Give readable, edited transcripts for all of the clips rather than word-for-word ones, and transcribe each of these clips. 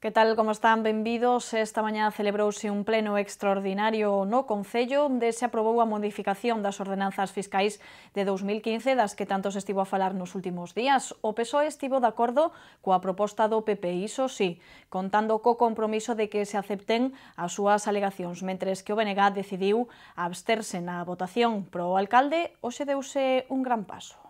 Que tal, como están? Benvidos. Esta mañá celebrouse un pleno extraordinario no Concello onde se aprobou a modificación das ordenanzas fiscais de 2015 das que tanto se estivo a falar nos últimos días. O PSOE estivo de acordo coa proposta do PP, iso sí, contando co compromiso de que se acepten as súas alegacións, mentres que o BNG decidiu absterse na votación. Pro alcalde, hoxe deuse un gran paso.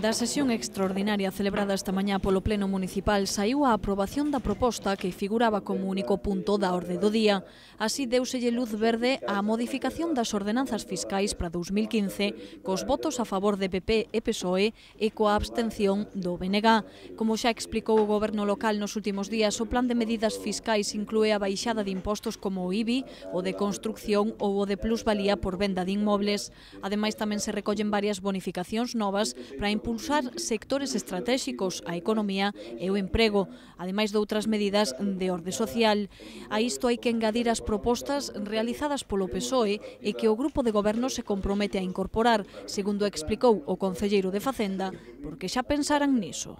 Da sesión extraordinaria celebrada esta mañá polo Pleno Municipal saiu a aprobación da proposta que figuraba como único punto da orde do día. Así deuselle luz verde á modificación das ordenanzas fiscais para 2015 cos votos a favor de PP e PSOE e coa abstención do BNG. Como xa explicou o Goberno local nos últimos días, o plan de medidas fiscais inclúe a baixada de impostos como o IBI, o de construcción ou o de plusvalía por venda de inmobles. Ademais, tamén se recollen varias bonificacións novas para impulsar sectores estratégicos, a economía e o emprego, ademais de outras medidas de orde social. A isto hai que engadir as propostas realizadas polo PSOE e que o grupo de goberno se compromete a incorporar, segundo explicou o concelleiro de Facenda, porque xa pensaran niso.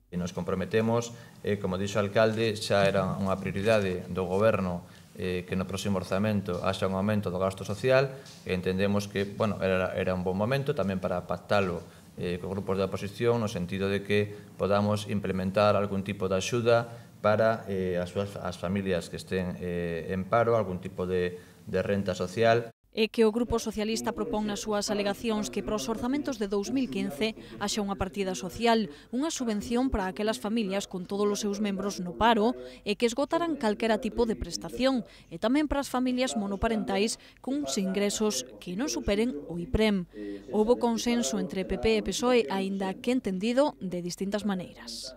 Nos comprometemos, como dixo o alcalde, xa era unha prioridade do goberno que no próximo orzamento haxa un aumento do gasto social e entendemos que era un bon momento tamén para pactalo con grupos da oposición no sentido de que podamos implementar algún tipo de axuda para as familias que estén en paro, algún tipo de renta social. E que o Grupo Socialista propón nas súas alegacións que para os orzamentos de 2015 haxa unha partida social, unha subvención para aquelas familias con todos os seus membros no paro e que esgotaran calquera tipo de prestación e tamén para as familias monoparentais cuns ingresos que non superen o IPREM. Houbo consenso entre PP e PSOE, aínda que entendido de distintas maneiras.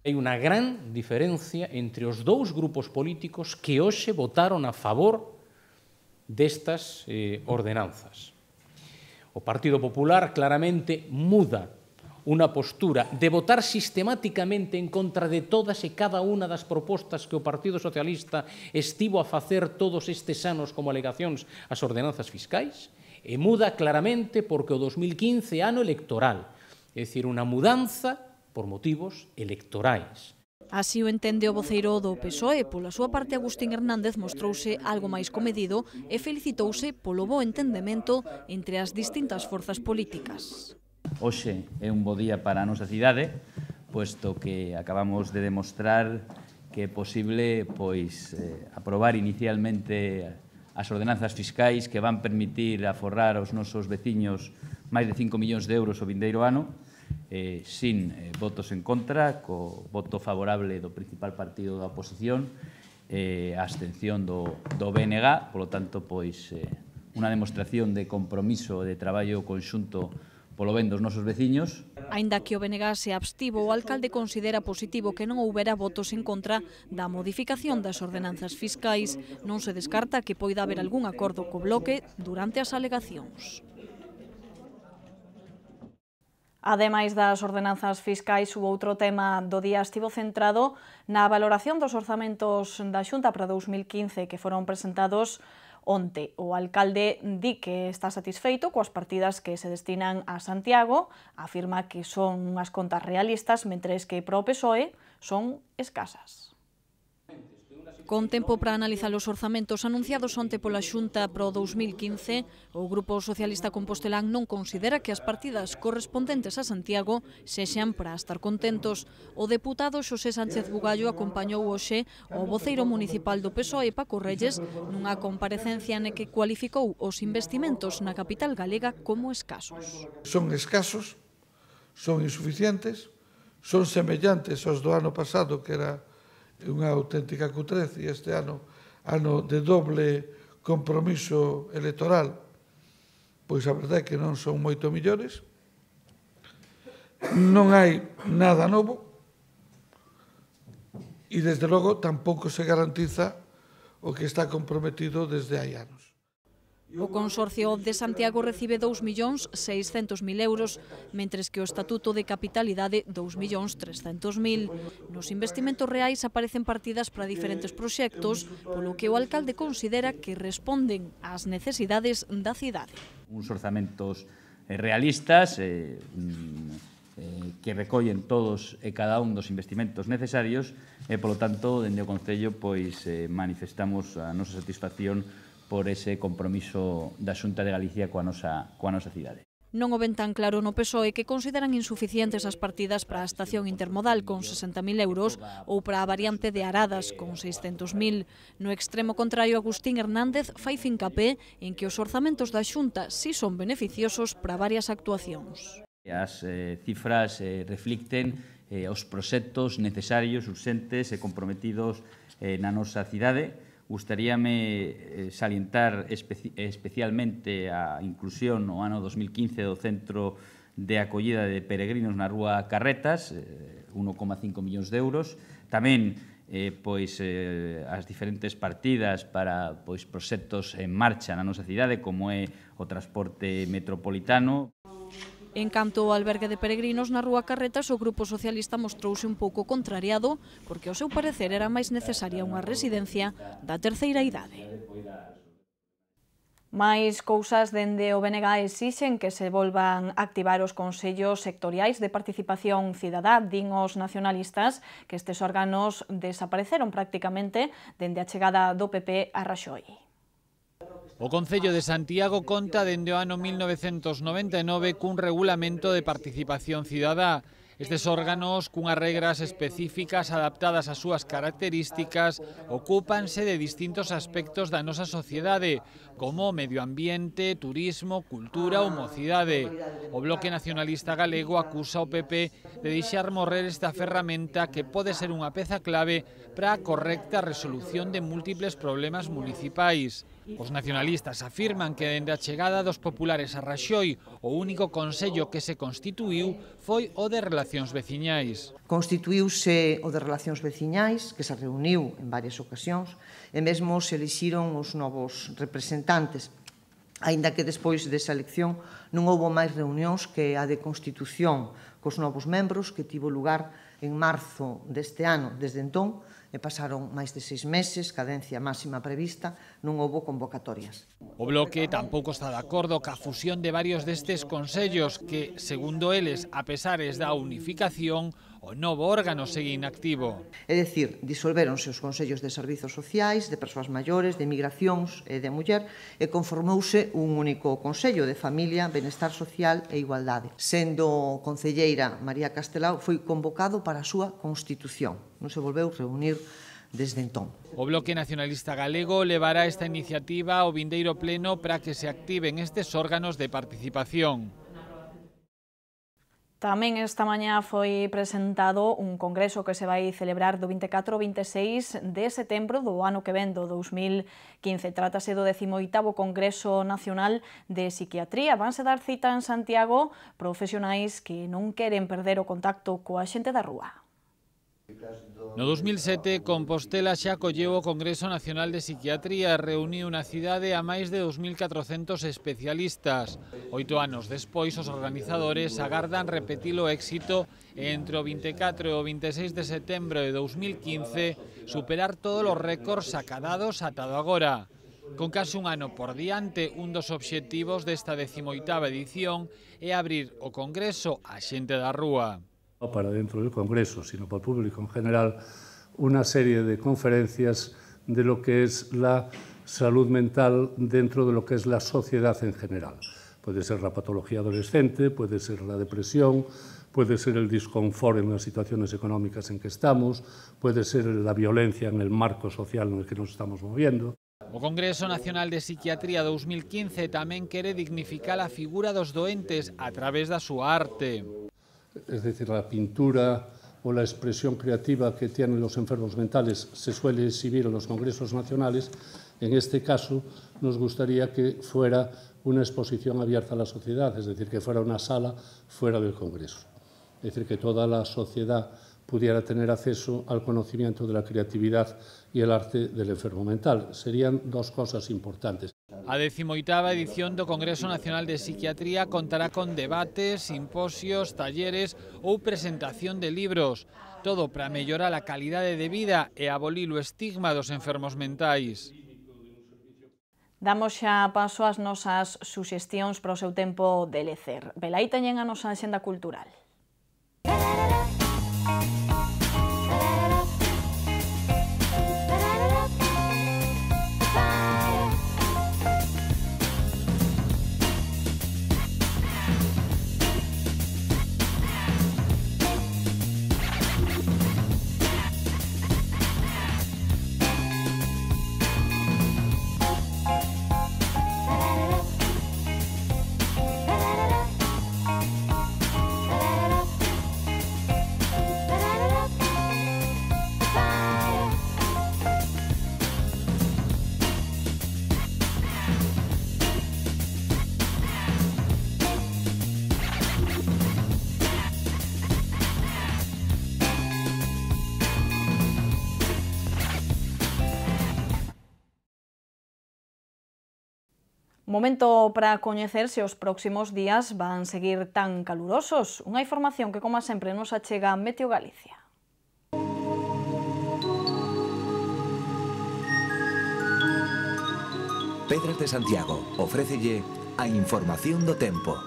Hai unha gran diferencia entre os dous grupos políticos que hoxe votaron a favor destas ordenanzas. O Partido Popular claramente muda unha postura de votar sistemáticamente en contra de todas e cada unha das propostas que o Partido Socialista estivo a facer todos estes anos como alegacións ás ordenanzas fiscais, e muda claramente porque o 2015 é ano electoral, é dicir, unha mudanza por motivos electorais. Así o entende o voceiro do PSOE. Pola súa parte, Agustín Hernández mostrouse algo máis comedido e felicitouse polo bo entendemento entre as distintas forzas políticas. Hoxe é un bo día para a nosa cidade, posto que acabamos de demostrar que é posible aprobar inicialmente as ordenanzas fiscais que van permitir aforrar aos nosos veciños máis de 5 millóns de euros o vindeiro ano, sin votos en contra, co voto favorable do principal partido da oposición, a abstención do BNG, polo tanto, unha demostración de compromiso de traballo conxunto polo ben dos nosos veciños. Aínda que o BNG se abstivo, o alcalde considera positivo que non houbera votos en contra da modificación das ordenanzas fiscais. Non se descarta que poida haber algún acordo co Bloque durante as alegacións. Ademais das ordenanzas fiscais, o outro tema do día estivo centrado na valoración dos orzamentos da Xunta para 2015 que foron presentados onte. O alcalde di que está satisfeito coas partidas que se destinan a Santiago, afirma que son unhas contas realistas, mentres que para o PSOE son escasas. Con tempo para analizar os orzamentos anunciados onte pola Xunta para o 2015, o Grupo Socialista Compostelán non considera que as partidas correspondentes a Santiago sexan para estar contentos. O deputado Xosé Sánchez Bugallo acompañou hoxe o voceiro municipal do PSOE, Paco Reyes, nunha comparecencia na que cualificou os investimentos na capital galega como escasos. Son escasos, son insuficientes, son semellantes aos do ano pasado, que era unha auténtica cutrez, e este ano de doble compromiso electoral, pois a verdade é que non son moito millores, non hai nada novo e desde logo tampouco se garantiza o que está comprometido desde hai anos. O Consorcio de Santiago recibe 2.600.000 euros, mentres que o Estatuto de Capitalidade 2.300.000. Nos investimentos reais aparecen partidas para diferentes proxectos, polo que o alcalde considera que responden ás necesidades da cidade. Uns orzamentos realistas, que recollen todos e cada un dos investimentos necesarios e, polo tanto, dende o Concello manifestamos a nosa satisfacción por ese compromiso da Xunta de Galicia coa nosa cidade. Non o ven tan claro no PSOE, que consideran insuficientes as partidas para a estación intermodal con 60.000 euros ou para a variante de Aradas con 600.000. No extremo contrario, Agustín Hernández fai fincapé en que os orzamentos da Xunta si son beneficiosos para varias actuacións. As cifras reflicten os proxectos necesarios, urxentes e comprometidos na nosa cidade. Gustaríame salientar especialmente a inclusión no ano 2015 do Centro de Acollida de Peregrinos na Rúa Carretas, 1,5 millóns de euros. Tamén as diferentes partidas para proxectos en marcha na nosa cidade, como é o transporte metropolitano. En canto ao albergue de peregrinos na Rúa Carretas, o Grupo Socialista mostrouse un pouco contrariado porque, ao seu parecer, era máis necesaria unha residencia da terceira idade. Mais cousas dende o BNG exixen que se volvan a activar os consellos sectoriais de participación cidadá, din os nacionalistas, que estes órganos desapareceron prácticamente dende a chegada do PP a Raxoi. O Concello de Santiago conta dende o ano 1999 cun regulamento de participación cidadá. Estes órganos, cunhas regras específicas adaptadas ás súas características, ocúpanse de distintos aspectos da nosa sociedade, como medio ambiente, turismo, cultura ou mocidade. O Bloque Nacionalista Galego acusa o PP de deixar morrer esta ferramenta que pode ser unha peza clave para a correcta resolución de múltiples problemas municipais. Os nacionalistas afirman que dende a chegada dos populares a Raxoi, o único consello que se constituíu foi o de Relacións Veciñais. Constituíuse o de Relacións Veciñais, que se reuniu en varias ocasións, e mesmo se elixiron os novos representantes, aínda que despois desa elección non houbo máis reunións que a de constitución cos novos membros, que tivo lugar en marzo deste ano. Desde entón, pasaron máis de 6 meses, cadencia máxima prevista, non houbo convocatorias. O Bloque tampouco está de acordo ca fusión de varios destes consellos que, segundo eles, a pesares da unificación, o novo órgano segue inactivo. É dicir, disolvéronse os consellos de servizos sociais, de persoas maiores, de migracións e de muller, e conformouse un único consello de familia, benestar social e igualdade. Sendo concelleira María Castelao, foi convocado para a súa constitución. Non se volveu reunir desde entón. O Bloque Nacionalista Galego levará esta iniciativa ao vindeiro pleno para que se activen estes órganos de participación. Tamén esta mañá foi presentado un congreso que se vai celebrar do 24 ao 26 de setembro do ano que ven, do 2015. Trátase do 18º Congreso Nacional de Psiquiatría. Vanse dar cita en Santiago profesionais que non queren perder o contacto coa xente da rúa. No 2007, Compostela xa acolleu o Congreso Nacional de Psiquiatría e reuniu na cidade a máis de 2.400 especialistas. 8 anos despois, os organizadores agardan repetir o éxito e entre o 24 e o 26 de setembro de 2015 superar todos os récords acadados atado agora. Con case un ano por diante, un dos obxectivos desta 18ª edición é abrir o Congreso á xente da rúa. No para dentro del Congreso, sino para el público en general, una serie de conferencias de lo que es la salud mental dentro de lo que es la sociedad en general. Puede ser la patología adolescente, puede ser la depresión, puede ser el disconfort en las situaciones económicas en que estamos, puede ser la violencia en el marco social en el que nos estamos moviendo. O Congreso Nacional de Psiquiatría 2015 tamén quere dignificar a figura dos doentes a través da súa arte. Es decir, la pintura o la expresión creativa que tienen los enfermos mentales se suele exhibir en los congresos nacionales. En este caso, nos gustaría que fuera una exposición abierta a la sociedad, es decir, que fuera una sala fuera del Congreso. Es decir, que toda la sociedad pudiera tener acceso al conocimiento de la creatividad y el arte del enfermo mental. Serían dos cosas importantes. A 18ª edición do Congreso Nacional de Psiquiatría contará con debates, simposios, talleres ou presentación de libros. Todo para mellorar a calidade de vida e abolir o estigma dos enfermos mentais. Damos xa paso ás nosas suxestións para o seu tempo de lecer. Velaí teñen a nosa axenda cultural. Momento para coñecer se os próximos días van seguir tan calurosos. Unha información que, como sempre, nos achega Meteo Galicia. Pedras de Santiago ofrécelle a información do tempo.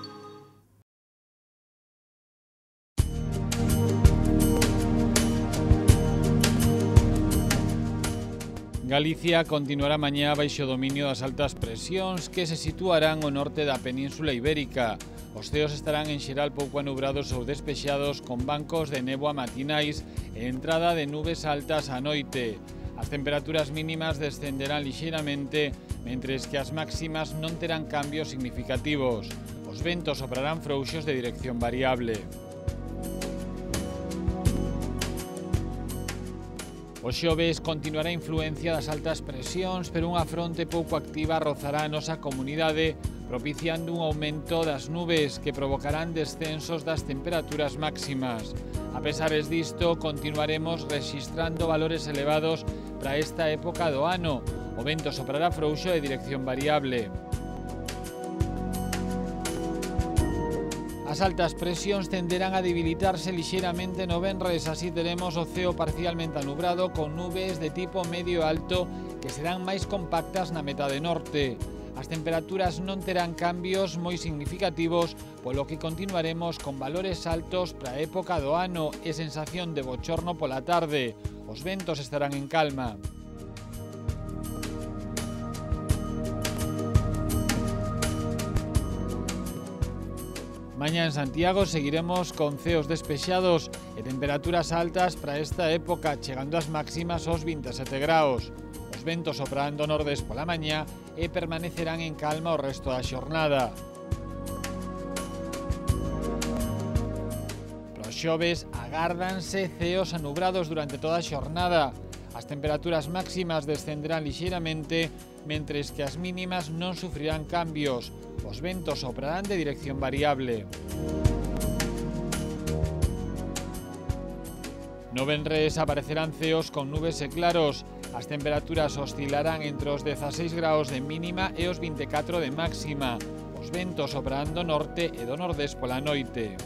Galicia continuará mañá baixo dominio das altas presións que se situarán ao norte da Península Ibérica. Os ceos estarán en xeral pouco anubrados ou despexados con bancos de néboa matinais e entrada de nubes altas á noite. As temperaturas mínimas descenderán lixeiramente, mentres que as máximas non terán cambios significativos. Os ventos soprarán frouxos de dirección variable. O xoves continuará a influencia das altas presións, pero unha fronte pouco activa rozará a nosa comunidade, propiciando un aumento das nubes que provocarán descensos das temperaturas máximas. A pesares disto, continuaremos rexistrando valores elevados para esta época do ano. O vento soprará frouxo de dirección variable. As altas presións tenderán a debilitarse lixeiramente no venres, así teremos o ceo parcialmente anubrado con nubes de tipo medio alto que serán máis compactas na metade norte. As temperaturas non terán cambios moi significativos, polo que continuaremos con valores altos para a época do ano e sensación de bochorno pola tarde. Os ventos estarán en calma. Mañá en Santiago seguiremos con ceos despexados e temperaturas altas para esta época, chegando as máximas aos 27 graus. Os ventos soprarán do nordés pola mañá e permanecerán en calma o resto da xornada. Para os xoves agárdanse ceos anubrados durante toda a xornada. As temperaturas máximas descenderán lixeiramente, mentres que as mínimas non sufrirán cambios. Os ventos soprarán de dirección variable. No venres aparecerán ceos con nubes e claros. As temperaturas oscilarán entre os 16 graus de mínima e os 24 de máxima. Os ventos soprarán do norte e do nordés pola noite.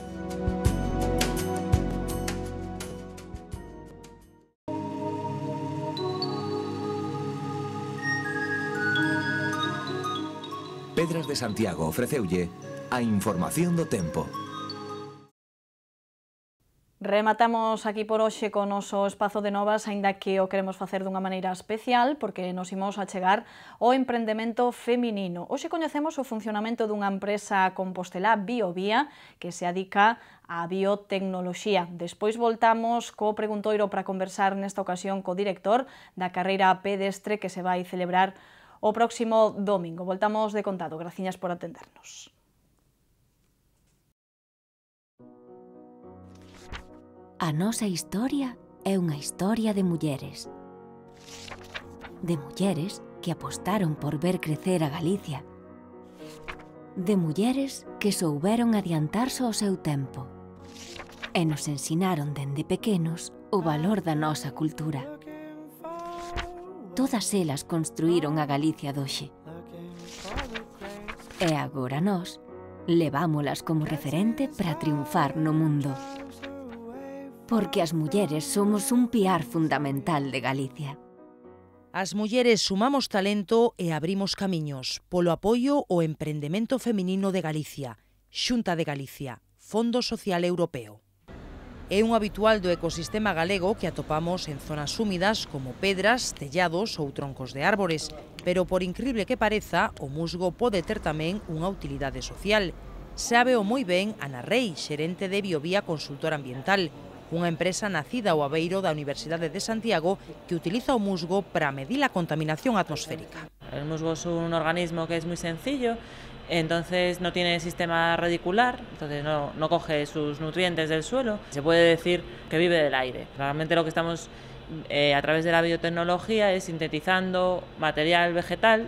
Pedras de Santiago ofreceulle a información do tempo. Rematamos aquí por hoxe con o noso espazo de novas, aínda que o queremos facer dunha maneira especial, porque nos imos achegar ao emprendemento feminino. Hoxe coñecemos o funcionamento dunha empresa compostelá Biovía, que se adica á biotecnoloxía. Despois voltamos co preguntoiro para conversar nesta ocasión co director da carreira pedestre que se vai celebrar o próximo domingo. Voltamos de contado. Graciñas por atendernos. A nosa historia é unha historia de mulleres. De mulleres que apostaron por ver crecer a Galicia. De mulleres que souberon adiantarse ao seu tempo. E nos ensinaron dende pequenos o valor da nosa cultura. Todas elas construíron a Galicia doxe. E agora nós levámolas como referente para triunfar no mundo. Porque as mulleres somos un piar fundamental de Galicia. As mulleres sumamos talento e abrimos camiños polo apoio ao emprendemento feminino de Galicia. Xunta de Galicia, Fondo Social Europeo. É un habitual do ecosistema galego que atopamos en zonas húmidas como pedras, tellados ou troncos de árbores, pero por incrible que pareza, o musgo pode ter tamén unha utilidade social. Sábeo moi ben Ana Rei, xerente de Biovía Consultora Ambiental, unha empresa nacida ao abeiro da Universidade de Santiago que utiliza o musgo para medir a contaminación atmosférica. El musgo es un organismo que es muy sencillo, entonces no tiene sistema radicular, entonces no coge sus nutrientes del suelo. Se puede decir que vive del aire. Realmente lo que estamos a través de la biotecnología es sintetizando material vegetal,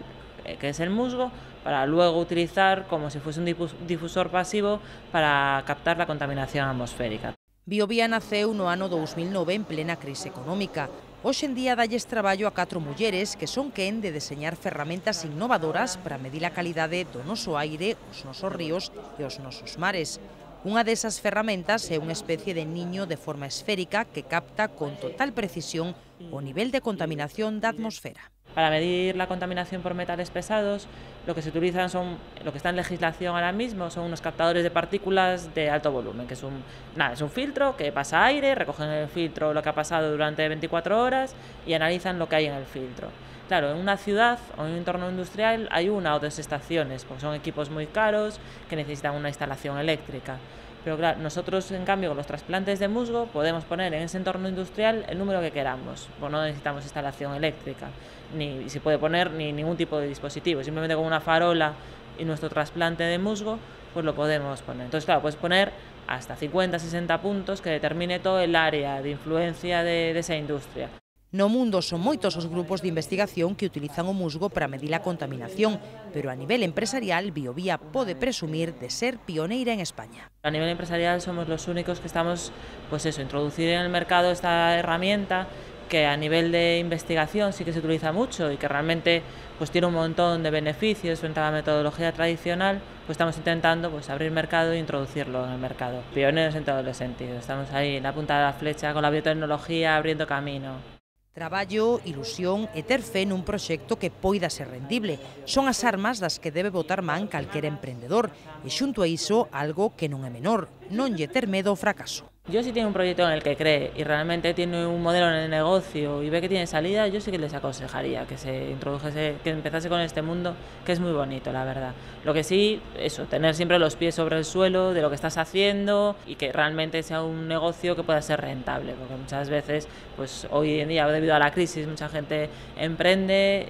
que es el musgo, para luego utilizar como si fuese un difusor pasivo para captar la contaminación atmosférica. Biovía naceu no ano 2009 en plena crise económica. Hoxe en día dalles traballo a 4 mulleres que son quen de deseñar ferramentas innovadoras para medir a calidade do noso aire, os nosos ríos e os nosos mares. Unha desas ferramentas é unha especie de niño de forma esférica que capta con total precisión o nivel de contaminación da atmosfera. Para medir la contaminación por metales pesados, lo que se utilizan son, lo que está en legislación ahora mismo, son unos captadores de partículas de alto volumen, que es un filtro que pasa aire, recogen en el filtro lo que ha pasado durante 24 horas y analizan lo que hay en el filtro. Claro, en una ciudad o en un entorno industrial hay una o dos estaciones, porque son equipos muy caros que necesitan una instalación eléctrica. Pero claro, nosotros en cambio con los trasplantes de musgo podemos poner en ese entorno industrial el número que queramos, pues no necesitamos instalación eléctrica, ni se puede poner ni ningún tipo de dispositivo, simplemente con una farola y nuestro trasplante de musgo pues lo podemos poner. Entonces claro, puedes poner hasta 50-60 puntos que determine todo el área de influencia de esa industria. No mundo son moitos os grupos de investigación que utilizan o musgo para medir a contaminación, pero a nivel empresarial Biovía pode presumir de ser pioneira en España. A nivel empresarial somos los únicos que estamos, pues eso, introducir en el mercado esta herramienta que a nivel de investigación sí que se utiliza mucho y que realmente pues tiene un montón de beneficios frente a la metodología tradicional, pues estamos intentando pues abrir mercado e introducirlo en el mercado. Pioneros en todos los sentidos, estamos ahí en la punta de la flecha con la biotecnología abriendo camino. Traballo, ilusión e ter fe nun proxecto que poida ser rendible son as armas das que debe botar man calquera emprendedor e xunto a iso algo que non é menor, non lle ter medo ao fracaso. Yo si tiene un proyecto en el que cree y realmente tiene un modelo en el negocio y ve que tiene salida, yo sí que les aconsejaría que se introdujese, que empezase con este mundo, que es muy bonito, la verdad. Lo que sí, eso, tener siempre los pies sobre el suelo de lo que estás haciendo y que realmente sea un negocio que pueda ser rentable, porque muchas veces, pues hoy en día, debido a la crisis, mucha gente emprende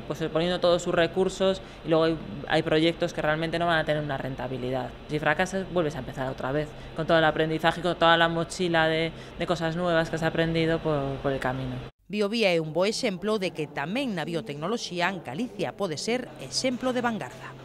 pues poniendo todos sus recursos y luego hay proyectos que realmente no van a tener una rentabilidad. Si fracasas, vuelves a empezar otra vez, con todo el aprendizaje, con toda la mochila de cosas nuevas que has aprendido por el camino. Biovía é un bo exemplo de que tamén na biotecnoloxía Galicia pode ser exemplo de vanguarda.